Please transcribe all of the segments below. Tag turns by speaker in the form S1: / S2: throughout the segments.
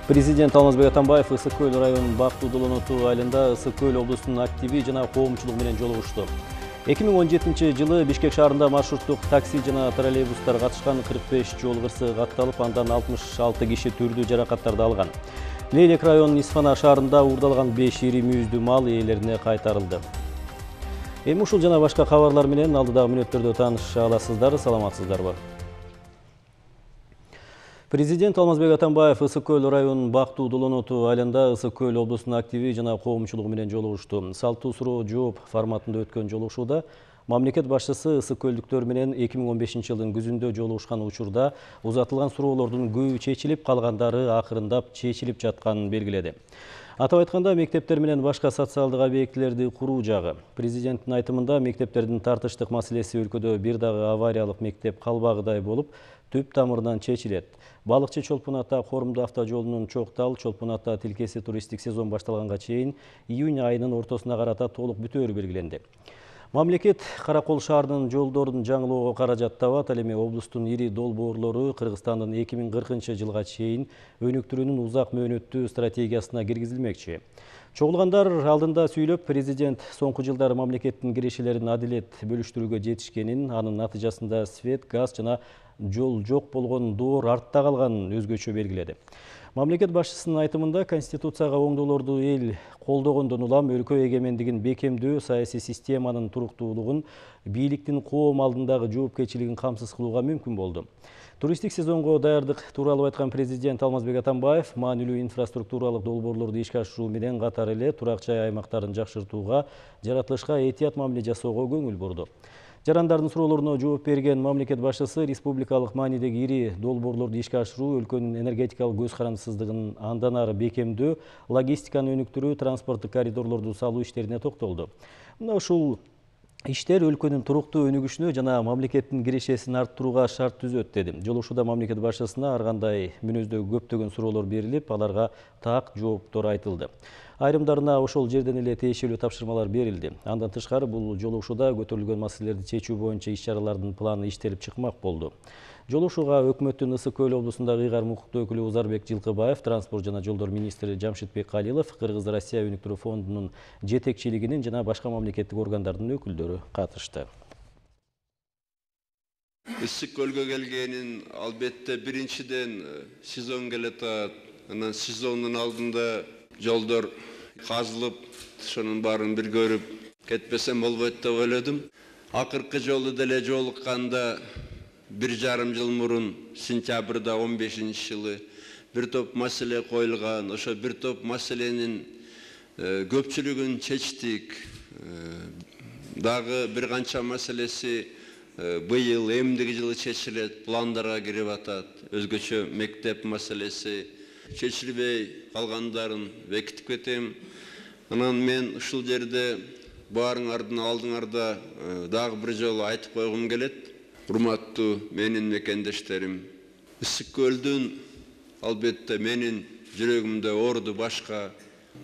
S1: Президент Алмазбек Атамбаев Ысык Көл районунун Бактуу Долоноту айылында Ысык Көл облусунун активи жана коомчулугу менен жолугушту. 2017 жылы Бишкек шаарында маршруттук такси жана троллейбустар катышкан 45 жол кырсы катталып, андан 66 киши түрдүү жаракаттарды алган. Лейлек районунун Исфана шаарында уурдалган 5 ири мүйүздүү мал ээлерине кайтарылды. Эми ушул жана башка кабарлар менен алдыдагы мүнөттөрдө тааныша аласыздар. Саламатсыздарбы? Президент Алмазбек Атамбаев Ысык Көл районунун Бактуу Долоноту айылында Ысык Көл облусунун активи жана коомчулугу менен жолугушту. Салттуу суроо жооп форматында өткөн жолугушууда мамлекет башчысы ысык көлдүктөр менен 2015 жылдын күзүндө жолугушкан учурда узатылган суроолордун көбү чечилип, калгандары акырындап чечилип жатканын белгиледи. Атап айтканда, мектептер менен башка социалдык объектилерди куруу жагы. Президенттин айтымында, мектептердин тартыштык маселеси өлкөдө бир дагы авариялык мектеп калбагыдай болуп, түп тамырынан чечилет. Балыкчы Чолпун Ата Корумду автожолунун Чоктал-Чолпун Ата тилкеси туристтик сезон башталганга чейин июнь айынын ортосуна карата толук бүтөөрү белгиленди. Мамлекет Каракол шаарынын жолдорун жаңылоого каражат табат. Ал эми облустун ири долбоорлору Кыргызстандын 2040 жылга чейин өнүктүрүүнүн узак мөөнөттүү стратегиясына киргизилмекчи. Чогулгандар алдында сүйлөп, президент соңку жылдары мамлекеттин кирешелерин адилет бөлүштүрүүгө жетишкенин, анын натыйжасында свет, газ жана жол жок болгон доор артта калганын өзгөчө белгиледи. Мамлекет башчысынын айтымында, Конституцияга оңдоолорду эл колдогондон улам өлкө эгемендигин бекемдөө, саясий системанын туруктуулугун, бийликтин коом алдындагы жоопкерчилигин камсыз кылууга мүмкүн болду. Туристтик сезонго даярдык тууралуу айткан президент Алмазбек Атамбаев маанилүү инфраструктуралык долбоорлорду ишке ашыруу менен катар эле турак жай аймактарын жакшыртууга, жаратылышка этият мамиле жасоого көңүл бурду. Жарандардын суроолоруна жооп берген мамлекет башчысы республикалык маанидеги ири долбоорлорду ишке ашыруу, өлкөнүн энергетикалык көз карандысыздыгын андан ары бекемдөө, логистиканы өнүктүрүү, транспорттук коридорлорду салуу иштерине токтолду. Мына ушул иштер өлкөнүн туруктуу өнүгүшүнө жана мамлекеттин кирешесин арттырууга шарт түзөт, деди. Жолугушууда мамлекет башчысына ар кандай мүнөздөгү көптөгөн суроолор берилип, аларга так жооптор айтылды. Айрымдарына ошол жерден эле тиешелүү тапшырмалар берилди. Андан тышкары, бул жолугушууда көтөрүлгөн маселелерди чечүү боюнча иш-чаралардын планы иштелип чыкмак болду. Жолугушууга өкмөттүн Ысык Көл облусундагы ыйгар укуктуу өкүлү Узарбек Жылкыбаев, транспорт жана жолдор министри Жамшитбек Калилов, Кыргыз-Россия өнүктүрүү фондунун жетекчилигинин жана башка мамлекеттик органдардын өкүлдөрү катышты.
S2: Ысык Көлгө келгенин албетте биринчиден сезон келатат. Анан сезондун алдында жолдор казылып, ошонун баарын бир көрүп кетпесем болбойт деп ойлодум. Акыркы жолу деле жолукканда 1,5 жыл мурун, сентябрда 15-жылы бир топ маселе коюлган. Ошо бир топ маселенин көпчүлүгүн чечтик. Дагы бир канча маселеси быйыл эмдиги жылы чечилет, пландарга кирип атат. Өзгөчө мектеп маселеси чечилбей калгандарын бекитип кетем. Анан мен ушул жерде баарыңардын алдыңарда дагы бир жолу айтып койгум келет. Урматтуу менин мекендештерим, Ысык Көлдүн албетте менин жүрөгүмдө орду башка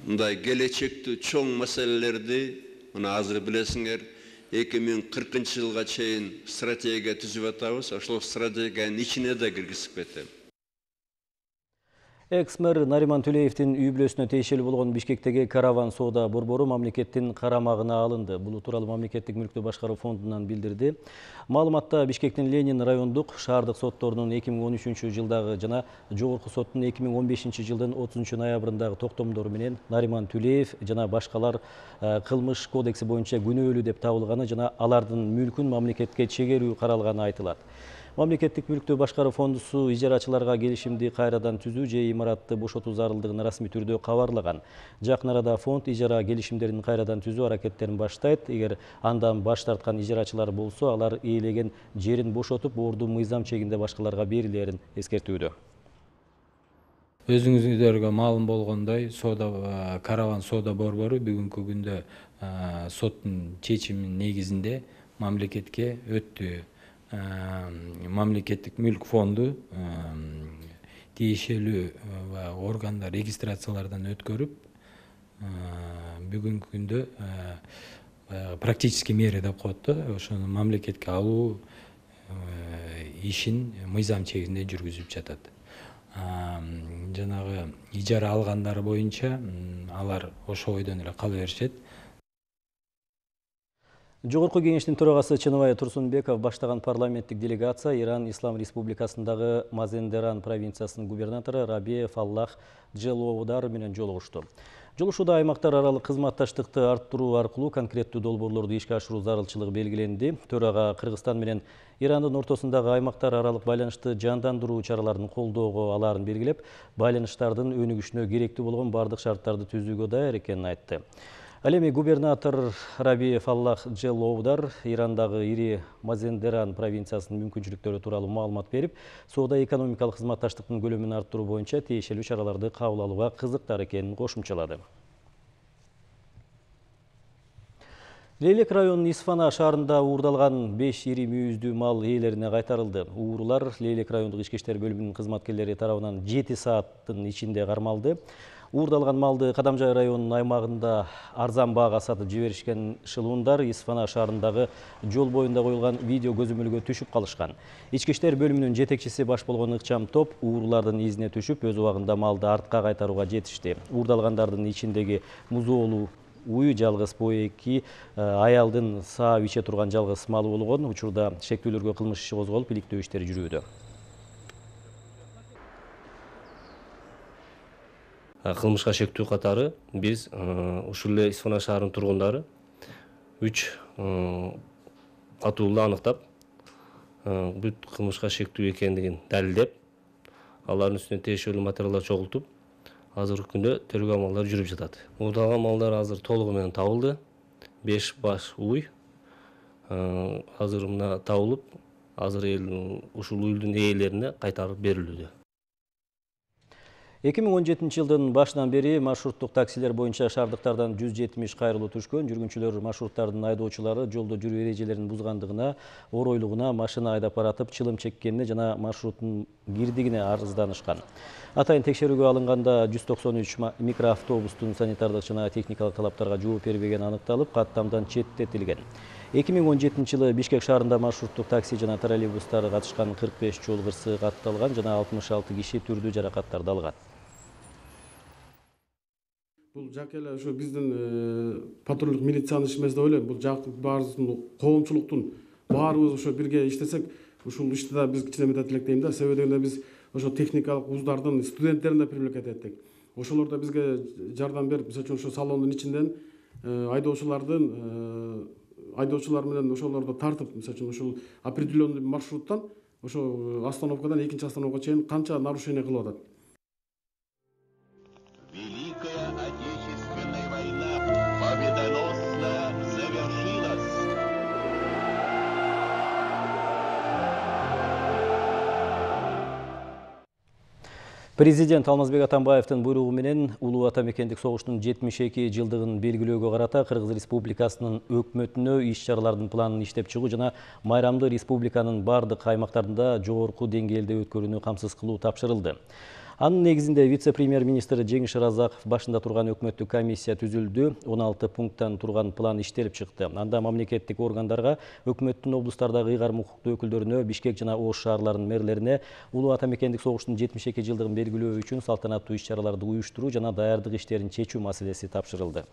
S2: мындай келечектүү чоң маселелерди, мына азыр билесиңер, 2040 жылга чейин стратегия түзүп атабыз. Ошол стратегиянын ичине да киргизип кетем.
S1: Экс-мэр Нариман Төлеевдин үй бүлөсүнө тиешелүү болгон Бишкектеги караван соода борбору мамлекеттин карамагына алынды. Бул тууралуу мамлекеттик мүлктү башкаруу фондунан билдирди. Маалыматта Бишкектин Ленин райондук шаардык сотторунун 2013 жылдагы жана жогорку соттун 2015 жылдын 30 ноябрындагы токтомдору менен Нариман Төлеев жана башкалар кылмыш кодекси боюнча күнөөлүү деп табылганы жана алардын мүлкүн мамлекетке чегерүү каралганы айтылат. Мамлекеттик мүлктү башкаруу фондусу ижарачыларга келишимди кайрадан түзүү же имаратты бошотуу зарылдыгын расмий түрдө кабарлаган. Жакын арада фонд ижара келишимдерин кайрадан түзүү аракеттерин баштайт. Эгер андан баш тарткан ижарачылар болсо, алар ээлеген жерин бошотуп, орду мыйзам чегинде башкаларга берилерин эскертүүдө.
S3: Өзүңүздөргө маалым болгондой, караван соода борбору бүгүнкү күндө соттун чечиминин негизинде мамлекетке өттү. Мамлекеттик мүлк фонду тиешелүү органдар регистрациялардан өткөрүп, бүгүнкү күндө практический мера деп коет да, ошону мамлекетке алуу ишин мыйзам чегинде жүргүзүп жатат. жанагы ижара алгандары боюнча алар ошо бойдон эле кала беришет.
S1: Жогорку кеңештин төрагасы Чыныбай Турсунбеков баштаган парламенттик делегация Иран Ислам Республикасындагы Мазендеран провинциясынын губернатору Раби Фаллах Джелоудар менен жолугушту. Жолугушууда аймактар аралык кызматташтыкты арттыруу аркылуу конкреттүү долбоорлорду ишке ашыруу зарылчылыгы белгиленди. Төрага Кыргызстан менен Ирандын ортосундагы аймактар аралык байланышты жандандыруу чараларын колдоого алаарын белгилеп, байланыштардын өнүгүшүнө керектүү болгон бардык шарттарды түзүүгө даяр экенин айтты. Ал эми губернатор Раби Фаллах Джелоудар Ирандагы ири Мазендеран провинциясынын мүмкүнчүлүктөрү тууралуу маалымат берип, соода-экономикалык кызматташтыктын көлөмүн арттыруу боюнча тиешелүү чараларды кабыл алууга кызыктар экенин кошумчалады. Лейлек районунун Исфана шаарында уурдалган 5 ири мүйүздүү мал ээлерине кайтарылды. Уурулар Лейлек райондук ички иштер бөлүмүнүн кызматкерлери тарабынан 7 сааттын ичинде кармалды. Уурдалган малды Кадамжай районунун аймагында арзан баага сатып жиберишкен шылуундар Исфана шаарындагы жол боюнда коюлган видео көзөмөлгө түшүп калышкан. Ички иштер бөлүмүнүн жетекчиси баш болгон ыкчам топ уурулардын изине түшүп, өз убагында малды артка кайтарууга жетишти. Уурдалгандардын ичиндеги музоолуу уй жалгыз поэки аялдын саап иче турган жалгыз малы болгон. Учурда шектүүлөргө кылмыш иши козголуп, иликтөө иштери жүрүүдө.
S4: Кылмышка шектүү катары биз ушул эле Исфана шаарынын тургундары 3 катуулду аныктап, бүт кылмышка шектүү экендигин далилдеп, алардын үстүнө тиешелүү материалдар чогултуп, азыркы күндө тергөө амалдары жүрүп жатат. Уурдалган малдар азыр толугу менен табылды. 5 баш уй азыр мына табылып, азыр ушул уйдун ээлерине кайтарып берилүүдө.
S1: 2017 жылдын башынан бери маршруттук таксилер боюнча шаардыктардан 170 кайрылуу түшкөн. Жүргүнчүлөр маршруттардын айдоочулары жолдо жүрүү эрежелерин бузгандыгына, оройлугуна, машина айдап баратып чылым чеккенине жана маршруттун кирдигине арызданышкан. Атайын текшерүүгө алынганда 193 микроавтобустун санитардык жана техникалык талаптарга жооп бербегени аныкталып, каттамдан четтетилген. 2017 жылы Бишкек шаарында маршруттук такси жана троллейбустар катышкан 45 жол кырсыгы катталган жана 66 киши түрдүү жаракаттарды алган.
S5: Бул жак эле ошо биздин патрулдук милициянын иши эмес деп ойлойм. Бул жак баарыбыздын коомчулуктун баарыбыз ошо бирге иштесек, ушул ишти да биз кичине мындай тилектейм да. Себеби дегенде биз ошо техникалык вуздардын студенттерин да привлекать эттик. Ошолор да бизге жардам берип, мисалы үчүн ошо салондун ичинден айдоочулар менен ошолорду тартып, мисалы үчүн ушул определенный маршруттан ошо остановкадан экинчи остановкага чейин канча нарушение кылып атат.
S6: Великая Отечественная война победоносно завершилась.
S1: Президент Алмазбек Атамбаевдин буйругу менен Улуу Ата мекендик согуштун 72 жылдыгын белгилөөгө карата Кыргыз Республикасынын өкмөтүнө иш-чаралардын планын иштеп чыгуу жана майрамды республиканын бардык аймактарында жогорку деңгээлде өткөрүүнү камсыз кылуу тапшырылды. Анын негизинде вице-премьер-министр Жеңиш Разаков башында турган өкмөттүк комиссия түзүлдү. 16 пункттан турган план иштелип чыкты. Анда мамлекеттик органдарга, өкмөттүн облустардагы ыйгарым укуктуу өкүлдөрүнө, Бишкек жана Ош шаарларынын мэрлерине Улуу Ата мекендик согуштун 72 жылдыгын белгилөө үчүн салтанаттуу иш-чараларды уюштуруу жана даярдык иштерин чечүү маселеси тапшырылды.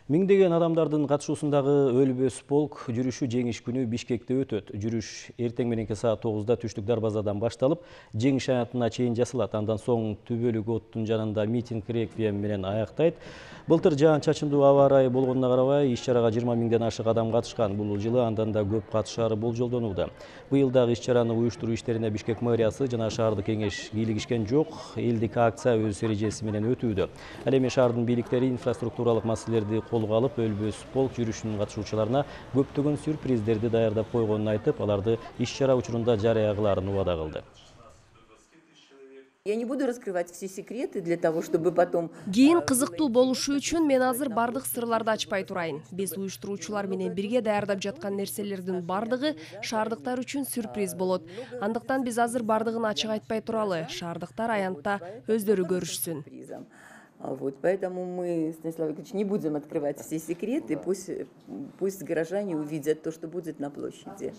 S1: Миңдеген адамдардын катышуусундагы Өлбөс полк жүрүшү жеңиш күнү Бишкекте өтөт. Жүрүш эртең мененки саат 9-да түштүк дарбазадан башталып, жеңиш аянтына чейин жасалат. Андан соң Түбөлүк оттун жанында митинг реквием менен аяктайт. Былтыр жаан-чачындуу аба ырайы болгонуна карабай, иш-чарага 20 миңден ашык адам катышкан. Бул жылы андан да көп катышаары болжолдонууда. Быйыл дагы иш-чараны уюштуруу иштерине Бишкек мэриясы жана шаардык кеңеш кийлигишкен жок. Элдик акция өз эрежеси менен өтүүдө. Ал эми шаардын бийликтери инфраструктуралык маселелерди колго алып, Өлбөс полк жүрүшүнүн катышуучуларына көптөгөн сюрприздерди даярдап койгонун айтып, аларды иш-чара учурунда жарыя кылаарын убада кылды.
S7: Я не буду раскрывать все секреты для того, чтобы потом...
S8: Кийин кызыктуу болушу үчүн мен азыр бардык сырларды ачпай турайын. Биз уюштуруучулар менен бирге даярдап жаткан нерселердин бардыгы шаардыктар үчүн сюрприз болот. Андыктан биз азыр бардыгын ачык айтпай туралы. Шаардыктар аянтта өздөрү көрүшсүн.
S7: Вот, поэтому мы, Станислав Ильич, не будем открывать все секреты, пусть горожане увидят то, что будет на площади.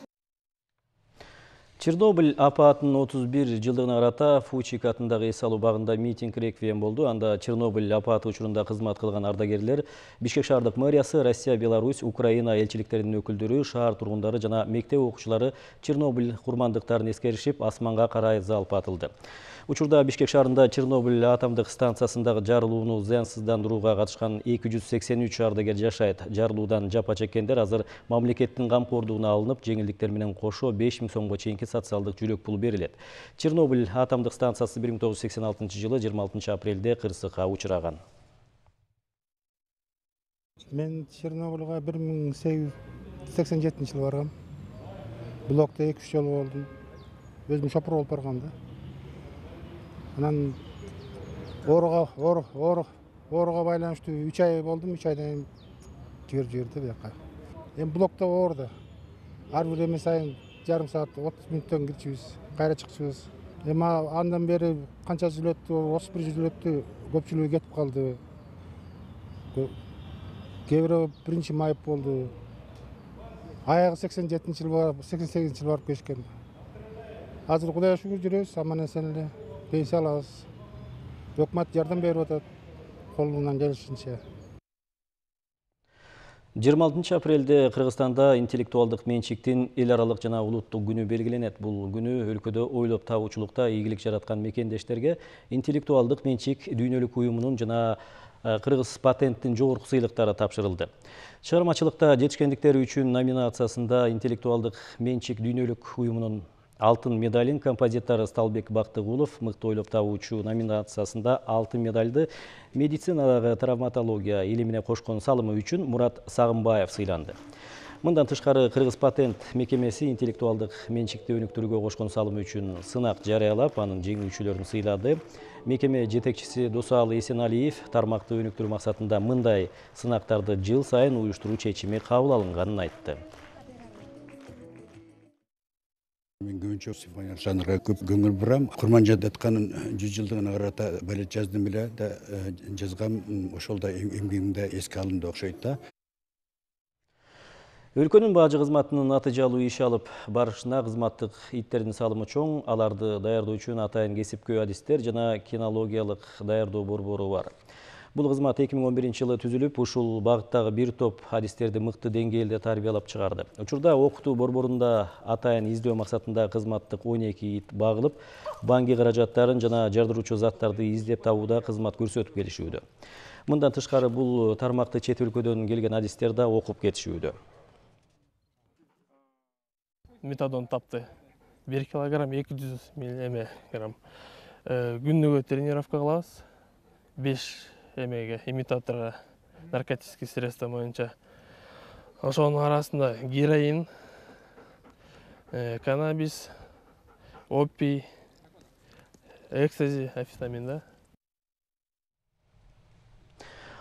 S1: Чернобыль апаатынын 31 жылдыгына карата Фучик атындагы эс алуу багында митинг реквием болду. Анда Чернобыль апааты учурунда кызмат кылган ардагерлер, Бишкек шаардык мэриясы, Россия, Беларусь, Украина элчиликтеринин өкүлдөрү, шаар тургундары жана мектеп окуучулары Чернобыль курмандыктарын эскеришип, асманга карай залп атылды. Учурда Бишкек шаарында Чернобыль атомдук станциясындагы жарылууну зыянсыздандырууга катышкан 283 ардагер жашайт. Жарылуудан жапа чеккендер азыр мамлекеттин камкордугуна алынып, жеңилдиктер менен кошо 5000 сомго чейинки социалдык жүрөк пул берилет. Чернобыль атомдук станциясы 1986 жылы 26 апрелде кырсыкка учураган.
S9: Мен Чернобыльга 1887 жылы баргам. Блокто 2-3 жолу болдум. Өзүм шопур болуп баргам да. Анан ооруга байланыштуу 3 ай болдум, 3 айдан кийин жиберди бияка. Эми блокто оорду. Ар бир эме сайын жарым саат 30 мүнөттөн кирчүбүз, кайра чыкчубуз. Эми андан бери канча жыл өттү, 31 жыл өттү, көпчүлүгү кетип калды. Кээ бирөө 1-майып болду. Аягы 87 жыл барып, 88 жыл барып кешкен. Азыр Кудайга шүгүр жүрөбүз, аман-эсен эле. Пенсия алабыз. Өкмөт жардам берип атат колунан келишинче.
S1: 26 апрелде Кыргызстанда интеллектуалдык менчиктин эл аралык жана улуттук күнү белгиленет. Бул күнү өлкөдө ойлоп табуучулукта ийгилик жараткан мекендештерге интеллектуалдык менчик дүйнөлүк уюмунун жана Кыргыз патенттин жогорку сыйлыктары тапшырылды. Чыгармачылыкта жетишкендиктери үчүн номинациясында интеллектуалдык менчик дүйнөлүк уюмунун алтын медалин композитор Сталбек Бактыгулов, мыкты ойлоп табуучу номинациясында алтын медальды медицинадагы травматология илимине кошкон салымы үчүн Мурат Сагымбаев сыйланды. Мындан тышкары Кыргыз патент мекемеси интеллектуалдык менчикти өнүктүрүүгө кошкон салымы үчүн сынак жарыялап, анын жеңүүчүлөрүн сыйлады. Мекеме жетекчиси Досалы Эсеналиев тармакты өнүктүрүү максатында мындай сынактарды жыл сайын уюштуруу чечими кабыл алынганын айтты.
S10: Мен көбүнчө симфония жанрга көп көңүл бурам. Курманжан Датканын 100 жылдыгына карата балет жаздым эле да жазгам, ошол да эмгегимде эске алынды окшойт да.
S1: Өлкөнүн бажы кызматынын натыйжалуу иш алып барышына кызматтык иттердин салымы чоң. Аларды даярдоо үчүн атайын кесипкөй адистер жана кинологиялык даярдоо борбору бар. Бул кызмат 2011 жылы түзүлүп, ушул багыттагы бир топ адистерди мыкты деңгээлде тарбиялап чыгарды. Учурда окутуу борборунда атайын издөө максатында кызматтык 12 ит багылып, банки каражаттарын жана жардыруучу заттарды издеп табууда кызмат көрсөтүп келишүүдө. Мындан тышкары бул тармакты чет өлкөдөн келген адистер да окуп кетишүүдө.
S11: Метадон тапты. 1 килограмм 200 миллиграмм. Күнүгө тренировка кылабыз. 5 имитаторга наркотический средства боюнча. Ошонун арасында героин, каннабис, опий, экстази, амфетамин да.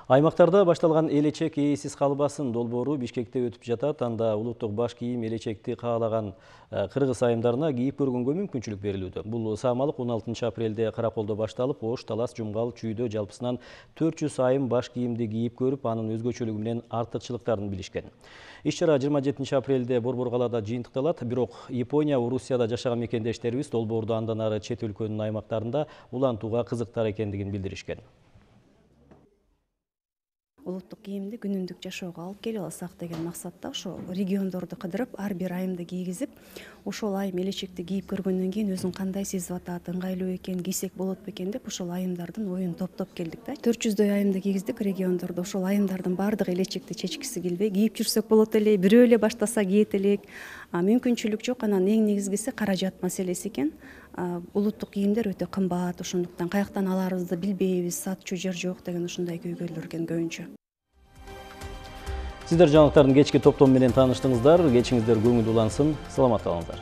S1: Аймактарда башталган элечек ээсиз калбасын долбоору Бишкекте өтүп жатат. Анда улуттук баш кийим элечекти каалаган кыргыз айымдарына кийип көргөнгө мүмкүнчүлүк берилүүдө. Бул саамалык 16 апрелде Караколдо башталып, Ош, Талас, Жумгал, Чүйдө жалпысынан 400 айым баш кийимди кийип көрүп, анын өзгөчөлүгү менен артыкчылыктарын билишкен. Иш-чара 27 апрелде Борбор калаада жыйынтыкталат. Бирок Япония, Орусияда жашаган мекендештерибиз долбоорду андан ары чет өлкөнүн аймактарында улантууга кызыктар экендигин билдиришкен.
S12: Улуттук кийимди күнүмдүк жашоого алып келип алсак деген максатта ошо региондорду кыдырып, ар бир айымды кийгизип, ошол айым элечекти кийип көргөндөн кийин өзүн кандай сезип атат, ыңгайлуу экен, кийсек болот бекен деп ошол айымдардын оюн топтоп келдик да. 400дөй айымды кийгиздик региондордо. Ошол айымдардын баардыгы элечекти чечкиси келбей, кийип жүрсөк болот эле, бирөө эле баштаса кийет элек. Мүмкүнчүлүк жок. Анан эң негизгиси каражат маселеси экен. Улуттук кийимдер өтө кымбат, ошондуктан каяктан аларыбызды билбейбиз, сатчу жер жок деген ушундай көйгөйлөр экен көбүнчө.
S1: Сиздер жаңылыктардын кечки топтому менен тааныштыңыздар. Кечиңиздер көңүл улансын. Саламат калыңыздар.